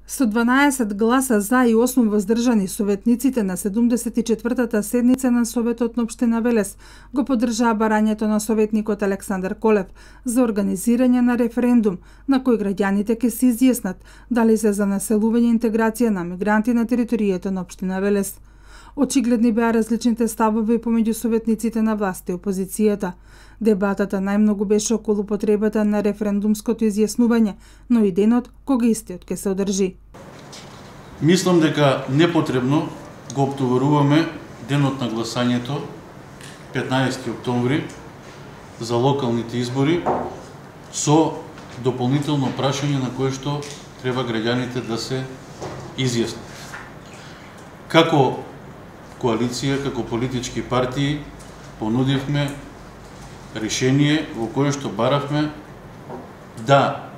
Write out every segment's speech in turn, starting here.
Со 12 гласа за и 8 воздржани, советниците на 74-та седница на Советот на општина Велес го поддржаа барањето на советникот Александар Колев за организирање на референдум на кој граѓаните ќе се изјаснат дали се за населување и интеграција на мигранти на територијата на општина Велес. Очигледни беа различните ставови помеѓу советниците на власт и опозицијата. Дебатата најмногу беше околу потребата на референдумското изјаснување, но и денот кога истиот ќе се одржи. Мислам дека непотребно го оптоваруваме денот на гласањето, 15 октомври, за локалните избори, со дополнително прашање на кое што треба граѓаните да се изјаснат. Како коалиција, како политички партии, понудивме решение во кое што баравме да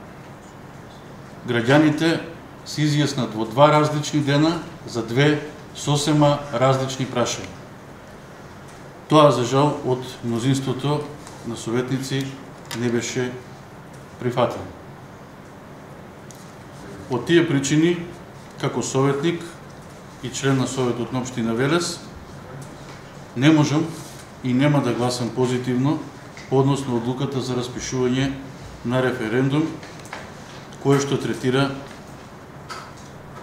граѓаните се изјаснат во два различни дена за две сосема различни прашања. Тоа, за жал, од мнозинството на советници не беше прифатено. Од тие причини, како советник и член на Советот на општина Велес, не можам и нема да гласам позитивно односно одлуката за распишување на референдум кој што третира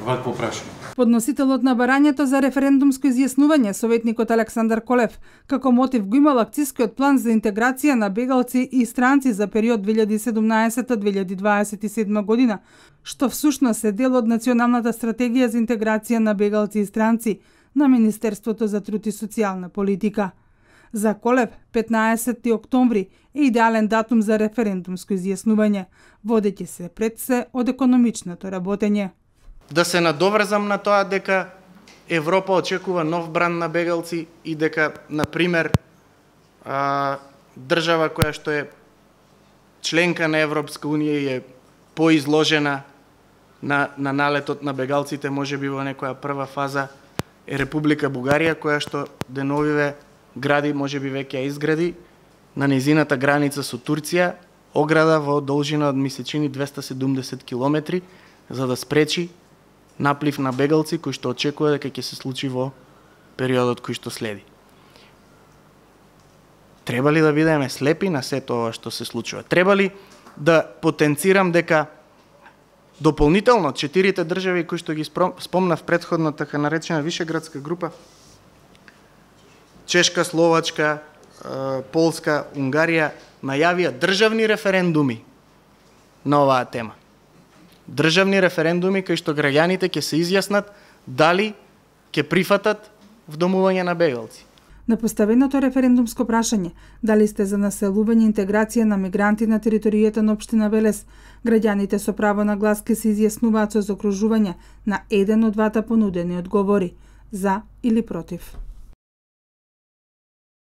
вакво прашање. Подносителот на барањето за референдумско изјаснување, советникот Александар Колев, како мотив го имал акцискиот план за интеграција на бегалци и странци за период 2017-2027 година, што всушност е дел од Националната стратегија за интеграција на бегалци и странци на Министерството за труд и социјална политика. За Колев, 15 октомври е идеален датум за референдумско изјаснување, водејќи се пред се од економичното работење. Да се надоврзам на тоа дека Европа очекува нов бран на бегалци и дека, например, држава која што е членка на Европска унија и е поизложена на налетот на бегалците, можеби во некоја прва фаза е Република Бугарија, која што деновиве гради, можеби веќе ја изгради, на нејзината граница со Турција, ограда во должина од месечини 270 километри, за да спречи наплив на бегалци кој што очекува дека ќе се случи во периодот кој што следи. Треба ли да бидеме слепи на сето ова што се случува? Треба ли да потенцирам дека дополнително 4 држави кои што ги спомнав претходно, така наречена Вишеградска група, Чешка, Словачка, Полска, Унгарија, најавија државни референдуми на оваа тема. Државни референдуми кај што граѓаните ќе се изјаснат дали ќе прифатат вдомување на бегалци. На поставеното референдумско прашање, дали сте за населување и интеграција на мигранти на територијата на општина Велес, граѓаните со право на глас ќе се изјаснуваат со заокружување на еден од двата понудени одговори, за или против.